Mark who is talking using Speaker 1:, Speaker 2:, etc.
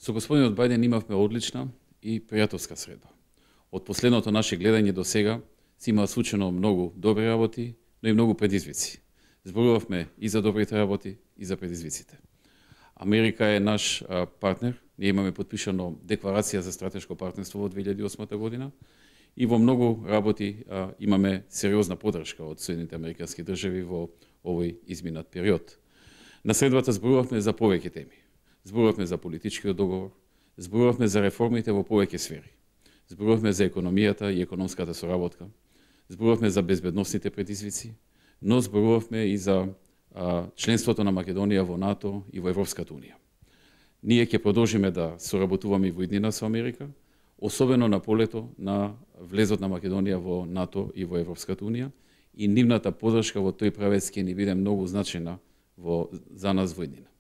Speaker 1: Со господинот Бајден имавме одлична и пријателска средба. Од последното наше гледање до сега се имаа случено многу добри работи, но и многу предизвици. Зборувавме и за добрите работи, и за предизвиците. Америка е наш партнер. Ние имаме подпишано декларација за стратешко партнерство во 2008 година и во многу работи имаме сериозна поддршка од Соединените американски држави во овој изминат период. На средбата зборувавме за повеќе теми. Зборувавме за политичкиот договор, зборувавме за реформите во повеќе сфери. Зборувавме за економијата и економската соработка, зборувавме за безбедносните предизвици, но зборувавме и за членството на Македонија во НАТО и во Европската унија. Ние ќе продолжиме да соработуваме и во иднина со Америка, особено на полето на влезот на Македонија во НАТО и во Европската унија, и нивната поддршка во тој правец ќе ни биде многу значајна за нас во иднина.